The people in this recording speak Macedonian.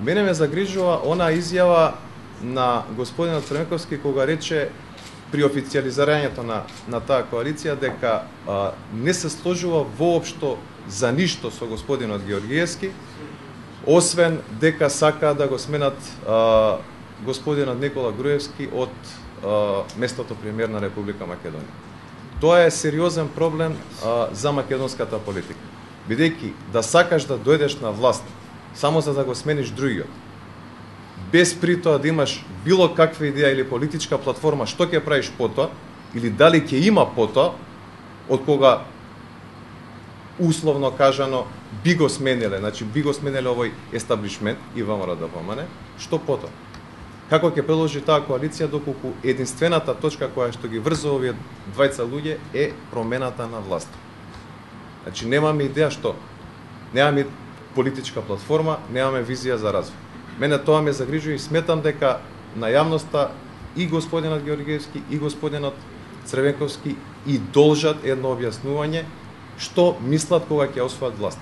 Мене ме загрижува она изјава на господинот Црвенковски кога рече при официализирањето на таа коалиција дека не се сложува воопшто за ништо со господинот Георгиевски, освен дека сака да го сменат господинот Никола Груевски од местото премиер на Република Македонија. Тоа е сериозен проблем за македонската политика. Бидејќи да сакаш да дојдеш на власт само за да го смениш другиот, без при тоа да имаш било каква идеја или политичка платформа што ќе правиш потоа, или дали ќе има потоа, од кога условно кажано би го смениле, значи би го смениле овој естаблишмент и ВМРО да помане, што потоа? Како ќе продолжи таа коалиција доколку единствената точка која што ги врзува овие двајца луѓе е промената на власт? Значи немаме идеја што, немаме политичка платформа, немаме визија за развој. Мене тоа ме загрижува и сметам дека на јавноста и господинот Георгиевски и господинот Црвенковски и должат едно објаснување што мислат кога ќе освојат власт.